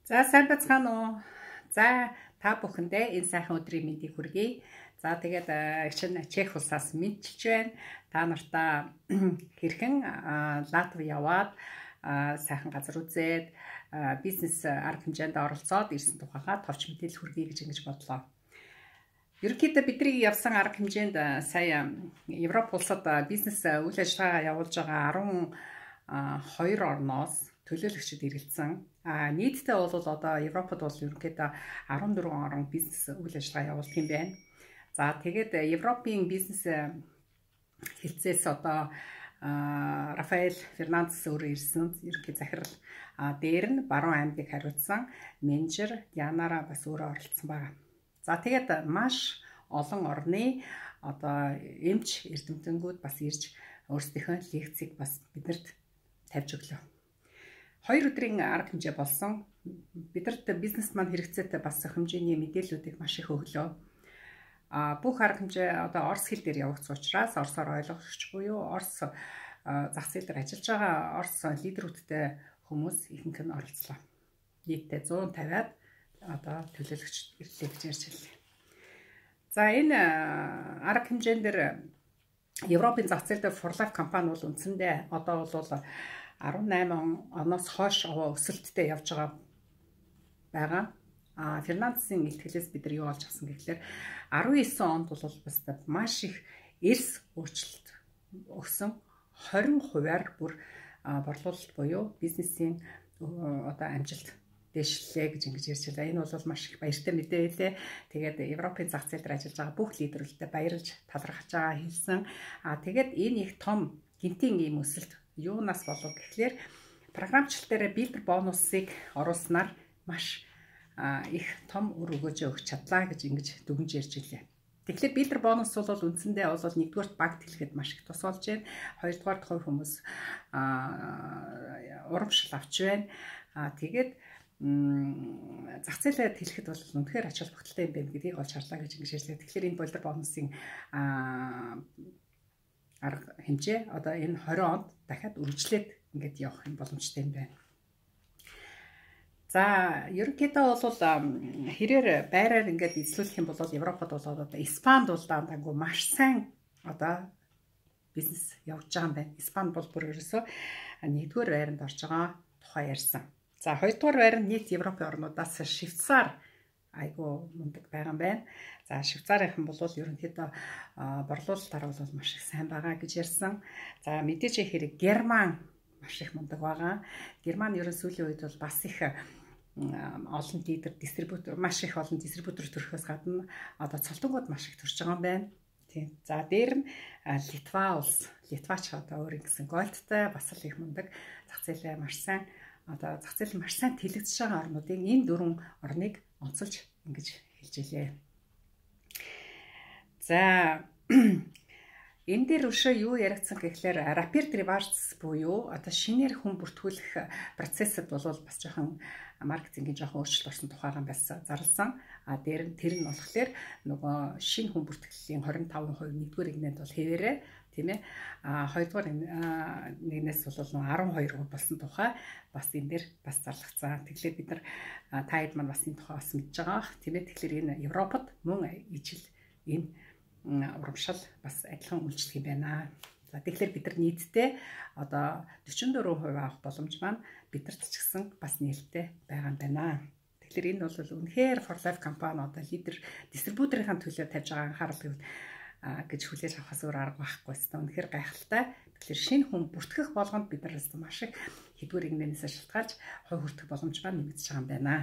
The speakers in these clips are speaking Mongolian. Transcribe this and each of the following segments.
За сайн бацгаана уу. За та бүхэндээ энэ сайхан өдрийн мэндийг хүргэе. За тэгээд чинь Чех улсаас мэдчилж байна. Та нартаа хэрхэн Латви яваад сайхан газар үзээд бизнес арга хэмжээнд оролцоод ирсэн тухайга товч мэдээлэл хүргэе гэж ингэж бодлоо. Ерөнхийдөө бидний явсан арга хэмжээнд сая Европ улсад бизнес үйл ажиллагаа явуулж байгаа 12 орноос төлөөлөгчид ирэлцсэн. Нийтдээ бол одоо Европод бол ерөнхийдөө 14 орн бизнес үйл ажиллагаа явуулдаг юм байна. За тэгээд Европын бизнес хэлцээс одоо Рафаэл Фернандес өөрөө ирсэн ерөнхий захирал дээр нь баруун аймгийг хариуцсан менежер Дианара бас өөрөө оролцсон байна. За тэгээд маш олон орны одоо эмч эрдэмтэнгүүд бас ирж өөрсдийнхөө лекцийг бас биднэрт тавьж өглөө. 2 өдрийн арга хэмжээ болсон. Бидэрт бизнес маань хэрэгцээтэй бас хэмжээний мэдээллүүдийг маш их өглөө. Бүх арга хэмжээ одоо орос хэл дээр явагдсан учраас орсоор ойлгогч буюу орос зах зээл дээр ажиллаж байгаа орос лидерүүдтэй хүмүүс ихэнх нь оролцлоо. Нийтдээ 150-аад одоо төлөөлөгч ирлээ гэж ярьж байлаа. За энэ арга хэмжээнд дээр Европын зах зээл дээр Forlife компани бол үндсэндээ одоо бол 18 оноос хойш өсөлттэй явж байгаа. Фернандесийн илтгэлээс бид нар юу олж авсан гэхлээр 19 онд бол бас маш их эрс өөрчлөлт өгсөн 20%-аар бүр борлуулалт буюу бизнесийн одоо амжилт дэвшлээ гэж ингэж ярьж байна. Энэ бол маш их баяртай мэдээ байлээ. Тэгээд Европын зах зээл дээр ажиллаж байгаа бүх лидерүүдэд баярлж талархаж байгаа хэлсэн. Тэгээд энэ их том гинтийн ийм өсөлт юунаас болов гэхлээр програмчлал дээр билдер бонусыг оруулснаар маш их том үр өгөөж өгч чадлаа гэж ингэж дүгнж ярьж илээ. Тэгэхээр билдер бонус бол үндсэндээ бол нэгдүгээрт багт хэлэхэд маш их тус болж байна. Хоёрдугаарт хувь хүмүүс урамшил авч байна. Тэгээд зах зээлээ хэлэхэд бол үнэхээр ач холбогдолтой юм байна гэдгийг олж харлаа гэж ингэж ярьлаа. Тэгэхээр энэ билдер бонусын арга хэмжээ одоо энэ 20 онд дахиад үргэлжлээд ингээд явах юм боломжтой юм байна. За ерөнхийдөө бол хэрээр байраар ингээд эзлүүлэх юм бол Европод бол одоо Испанд бол даангүй маш сайн одоо бизнес явж байгаа юм байна. Испанд бол бүр ерөөсөө нэгдүгээр байранд орж байгаа тухай ярьсан. За хоёрдугаар байр нь нийт Европын орнуудаас Швейцар айгу мундаг байгаа юм байна. За Швейцарийнхан бол ерөнхийдөө борлуулалтаар бол маш их сайн байгаа гэж ярьсан. За мэдээж хэрэг Герман маш их мундаг байгаа. Герман ерөн сүүлийн үед бол бас их олон дистрибьютор маш их олон дистрибьютор төрөхөөс гадна одоо цолтонгууд маш их төрж байгаа юм байна. Тийм. За дээр нь Литва улс, Литвач одоо өөр ингэсэн голдтай бас л их мундаг зах зээлээ маш сайн одоо зах зээл маш сайн тэлэгдэж байгаа орнуудын энэ 4 орныг онцолж ингэж хэлж илээ. За энэ дээр өшөө юу яригдсан гэхлээр rapid rewards буюу одоо шинээр хүн бүртгүүлэх процессд бол бас жоохон маркетингийн жоохон өөрчлөлт орсон тухайгаан байсан зарласан. Дээр нь тэр нь болохоор нөгөө шинэ хүн бүртгэлийн 25% нэгдүгээр игнэнд бол хэвээрээ тийм ээ. Хоёрдугаар нэгнээс бол 12% болсон тухай бас энэ дээр бас зарлагдсан. Тэгэхээр бид нар таад маань бас энэ тухай бас мэдж байгаа. Тийм ээ. Тэгэхээр энэ Европод мөн ижил энэ урамшил бас адилхан үйлчлэх юм байна. За тэгэхээр бид нар нийтдээ одоо 44% авах боломж маань бидэрт ч гэсэн бас нээлттэй байгаа юм байна. Тэгэхээр энэ бол үнэхээр Forlife компани одоо лидер дистрибьюторын төлөө тавьж байгаа анхаарал гэж хүлээж авахаас өөр арга байхгүй байна. Үнэхээр гайхалтай. Тэгэхээр шинэ хүн бүртгэх болгонд бид нар маш их хэдвэр игнэнээс шалтгаалж хувь хүртэх боломж маань нэмэгдэж байгаа юм байна.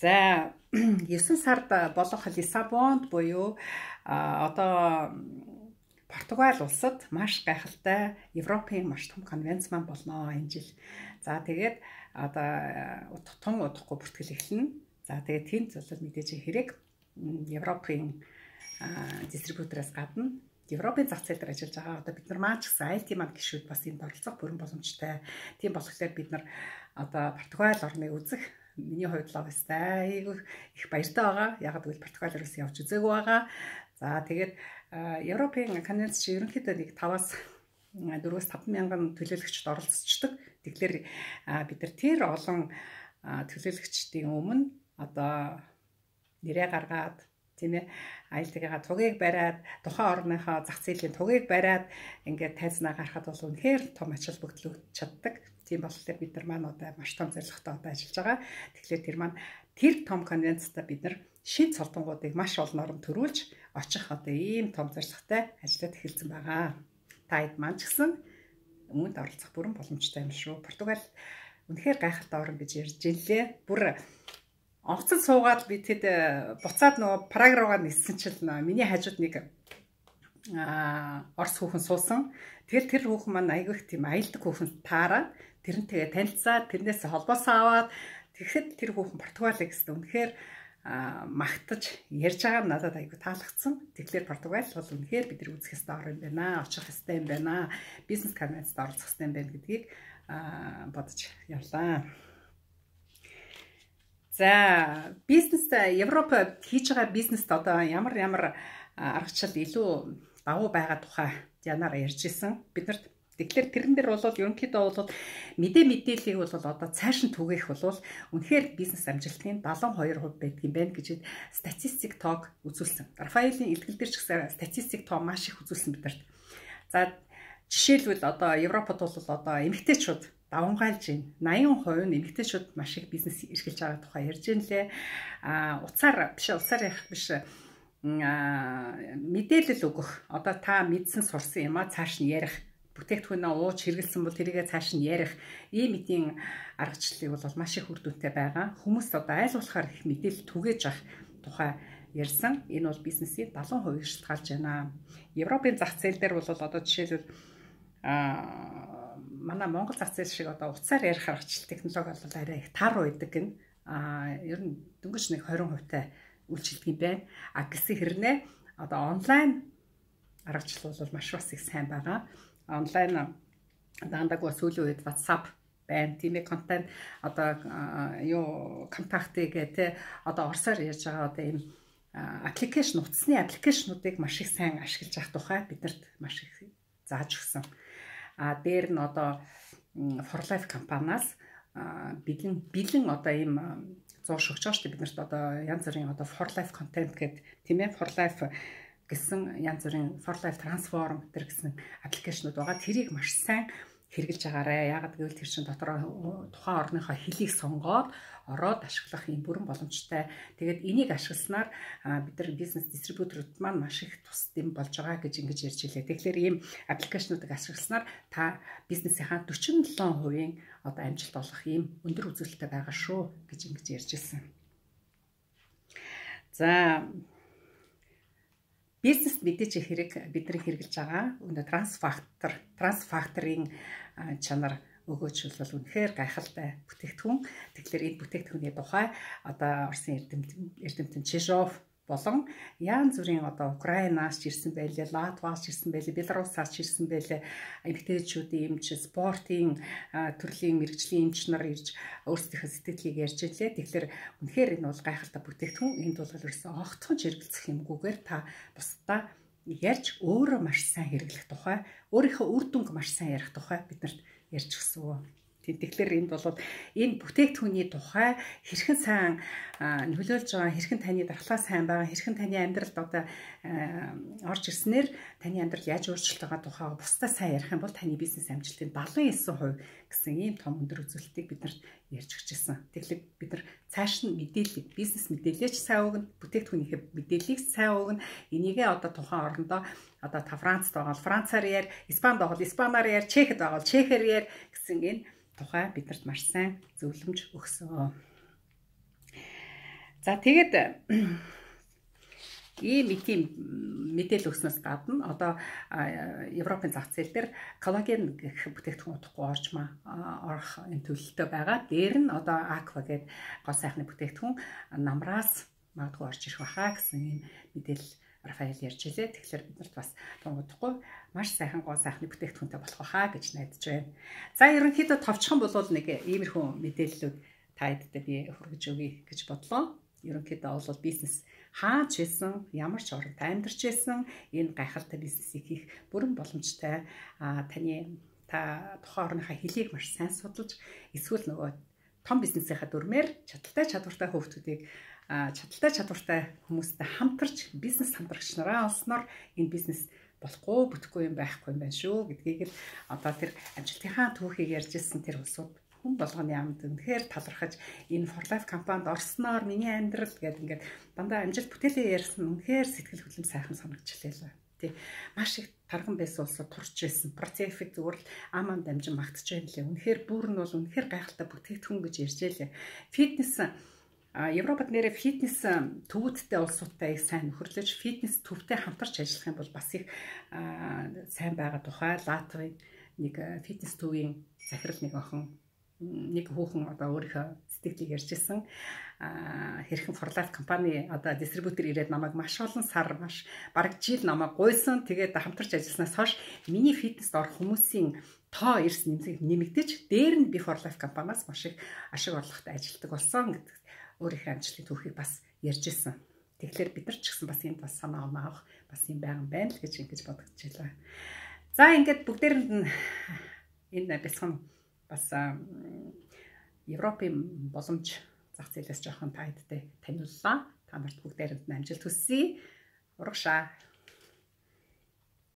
За 9 сард болох Лиссабонд буюу одоо Португал улсад маш гайхалтай Европын маш том конвенц маань болно энэ жил. За тэгээд одоо том удахгүй бүртгэл эхэлнэ. За тэгээд тэнд зөвлөл мэдээж хэрэг Европын дистрибьютороос гадна Европын зах зээл дээр ажиллаж байгаа одоо бид нар маань ч гэсэн IT маань гишүүд бас энд оролцох бүрэн боломжтой. Тийм болохоор бид нар одоо Португал орныг үзэх миний хувьд л бастай их баяртай байгаа. Яг гэвэл Португал руу явж үзээгүй байгаа. За тэгээд Европын конвенц чи ерөнхийдөө нэг 5-аас 4-5 мянган төлөөлөгчд оролцдог Тэгэхээр бид нар тэр олон төлөөлөгчдийн өмнө одоо нэрээ гаргаад тийм ээ аюултайгаа тугийг бариад тухайн орныхоо зах зээлийн тугийг бариад ингээд тайзнаа гарахад бол үнэхээр том ач холбогдол өгч чаддаг. Тийм болохоор бид нар маань одоо маш том зорилготой одоо ажиллаж байгаа. Тэгэхээр тэр том конвенцтай бид нар шин цолдонгуудыг маш олон орнд төрүүлж очих одоо ийм том зорилготой ажиллаад эхэлсэн байгаа. Таад маань ч гэсэн үүнд оролцох бүрэн боломжтой юм шүү. Португал үнэхээр гайхалтай орн гэж ярьж илээ. Бүр онцон суугаад би тэд буцаад нөгөө Праг руугаа ниссэн чил миний хажууд нэг орс хүүхэн суусан. Тэр хүүхэн маань айгүйх тийм аялдаг хүүхэн таараад тэрнтэйгээ танилцаад тэрнээс холбоосоо аваад тэгэхэд тэр хүүхэн Португалыг гэсэн үнэхээр магтаж ярьж байгаа нь надад айгүй таалагдсан. Тэгэхээр Португал бол үнэхээр бид нар үзэх ёстой орн юм байна. Очих ёстой юм байна. Бизнес конвенцэд оролцох ёстой юм байна гэдгийг бодож явлаа. За бизнест Европ хийж байгаа бизнест одоо ямар аргачлал илүү давуу байгаа тухай янаар ярьж исэн. Биднэрт тэгэхээр тэрэн дээр бол ерөнхийдөө бол мэдээллийг бол одоо цааш нь түгээх бол үнэхээр бизнес амжилтын 72% байдаг юм байна гэж статистик тог үзүүлсэн. Рафаэлийн илтгэл дээр ч гэсэн статистик тог маш их үзүүлсэн биднэрт. За жишээлбэл одоо Европод бол одоо эмэгтэйчүүд давамгайлж байна. 80% нь эмэгтэйчүүд маш их бизнес эрхэлж байгаа тухай ярьж байна лээ. Уцаар ярих биш мэдээлэл өгөх. Одоо та мэдсэн сурсан юм а цааш нь ярих. Бүтээгдэхүүнээ ууж хэрэгэлсэн бол тэрийгээ цааш нь ярих. Ийм эдийн аргачлалыг бол маш их үр дүнтэй байгаа. Хүмүүс одоо айл болохоор их мэдээлэл түгээж авах тухай ярьсан. Энэ бол бизнесийн 70% шалтгаалж байна. Европын зах зээл дээр бол одоо жишээлбэл манай Монгол зах зээл шиг одоо уцаар ярих аргачлал технологи бол арай их тар байдаг гэн. Ер нь дөнгөж нэг 20% үйлчилдэг юм байна. Гэсэн хэрнээ одоо онлайн аргачлал бол маш бас их сайн байгаа. Онлайн даандаг бас сүүлийн үед WhatsApp байна. Тийм ээ контент одоо контактыг те одоо орсоор ярьж байгаа одоо ийм аппликейшн утасны аппликейшнуудыг маш их сайн ашиглаж авах тухай биднэрт маш их зааж өгсөн. Дээр нь одоо For Life компаниас бэлэн одоо ийм зурш өгч байгаа шүү дээ биднэрт одоо янз бүрийн одоо For Life контент гэдэг тийм ээ For Life гэсэн янз бүрийн For Life Transform гэсэн аппликейшнууд байгаа. Тэрийг маш сайн хэрэгжилж агаарэ. Яагаад гэвэл тэр чинь дотор тухайн орныхоо хэлийг сонгоод ороод ашиглах юм бүрэн боломжтой. Тэгээд энийг ашигласнаар бид нар бизнес дистрибьюторууд маань маш их тусад юм болж байгаа гэж ингэж ярьж илээ. Тэгэхээр ийм аппликейшнуудыг ашигласнаар та бизнесийнхаа 47% одоо амжилт олох ийм өндөр үзүүлэлттэй байгаа шүү гэж ингэж ярьж ирсэн. За бизнес мэдээж хэрэг бидний хэрэгжилж байгаа. Өнөө трансфакторын чанар өгөөч бол үнэхээр гайхалтай бүтээгдэхүүн. Тэгэхээр энэ бүтээгдэхүүний тухай одоо Орсын эрдэмтэн Чижов болон янз бүрийн одоо Украинаас ирсэн байлээ, Латвиас ирсэн байлээ, Белорусаас ирсэн байлээ. Эмэгтэйчүүдийн эмч, спортын төрлийн мэрэгжлийн эмч нар ирж өөрсдийнхөө сэтгэлийг ярьж илээ. Тэгэхээр үнэхээр энэ бол гайхалтай бүтээгдэхүүн. Энд бол ерөөсөн огтхон хэрэгэлцэх юмгүйгээр та бусдаа ярьж өөрөө маш сайн хэрэглэх тухай, өөрийнхөө үр дүнг маш сайн ярих тухай биднэрт ярьж өгсөн. Тэгэхээр энд бол энэ бүтээгдэхүүний тухай хэрхэн сайн нөлөөлж байгаа, хэрхэн таны дархлаа сайн байгаа, хэрхэн таны амьдралд одоо орж ирснээр таны амьдрал яаж өөрчлөлт байгаа тухай бусдаа сайн ярих юм бол таны бизнес амжилтын 79% гэсэн ийм том өндөр үзүүлэлтийг биднэрт ярьж өгч ирсэн. Тэгэхээр бид нар цааш нь мэдээлэл, бизнес мэдээлэлч сайн өгнө, бүтээгдэхүүнийхээ мэдээллийг сайн өгнө. Энийгээ одоо тухайн орондоо одоо та Францд байгаа бол Францаар яар, Испанд байгаа бол Испанаар яар, Чехэд байгаа бол Чехээр яар гэсэн энэ тухай биднэрт маш сайн зөвлөмж өгсөн. За тэгээд ийм мэдээлэл өгснөөс гадна одоо Европын зах зээл дээр коллаген гэх бүтээгдэхүүн утгагүй орох энэ төлөлтөй байгаа. Дээр нь одоо Aqua гэдэг гоо сайхны бүтээгдэхүүн намраас магадгүй орж ирэх баха гэсэн ийм мэдээлэл Рафаэл ярьж илээ. Тэгэхээр биднэрт бас тунгуудахгүй маш сайхан гоо сайхны бүтээгдэхүүнтэй болох байхаа гэж найдаж байна. За ерөнхийдөө товчхон болвол нэг иймэрхүү мэдээллүүд та хэдтэй би хүргэж өгье гэж бодлоо. Ерөнхийдөө бол бизнес хаач байсан, ямар ч оронд амьдарч байсан энэ гайхалтай бизнесийг хийх бүрэн боломжтой. та тухайн орныхаа хэлийг маш сайн судалж эсвэл нөгөө том бизнесийнхаа дүрмээр чадвартай хүүхдүүдийг чадaltaй чадвартай хүмүүстэй хамтарч бизнес хамтрагч нараа олсноор энэ бизнес болохгүй бүтэхгүй юм байхгүй юм байна шүү гэдгийг л одоо тэр амжилтынхаа түүхийг ярьж ирсэн тэр улсууд хүн болгоны амд үнэхээр талархаж энэ For Life компанид орсноор миний амьдрал гэдэг ингээд дандаа амжилт бүтээлээ ярьсан үнэхээр сэтгэл хөдлөм сайхан санагдчихлээ л. Тий. Маш их тарган байсан улсууд турч ирсэн. Процефик зүгээр л аман дамжин магтж байна лээ. Үнэхээр бүр нь бол үнэхээр гайхалтай бүтээгдэхүүн гэж ярьжээ лээ. Фитнес Европод нэрээ фитнес төвүүдтэй улсуудтай их сайн нөхөрлөж фитнес төвтэй хамтарч ажиллах юм бол бас их сайн байгаа тухай Латвийн нэг фитнес төвийн захирал нэг охин нэг хүүхэн одоо өөрийнхөө сэтгэлийг ярьжсэн. Хэрхэн For Life компани одоо дистрибьютор ирээд намайг маш олон сар маш бараг жил намайг гуйсан. Тэгээд хамтарч ажилласнаас хойш миний фитнест орох хүмүүсийн тоо эрс нэмэгдэж дээр нь би For Life компаниас маш их ашиг орлоготой ажилладаг болсон гэдэг өөрийнхөө амжилтын түүхийг бас ярьжсэн. Тэгэхээр бид нар ч гэсэн бас энд бас санаа авах бас юм байгаа юм байна л гэж ингэж бодогдчихлаа. За ингээд бүгдээрэнд нь энэ бэлсгэн бас Европын боломж зах зээлээс жоохон таадтай таниуллаа. Та нарт бүгдээрэнд нь амжилт хүсье. Урагшаа.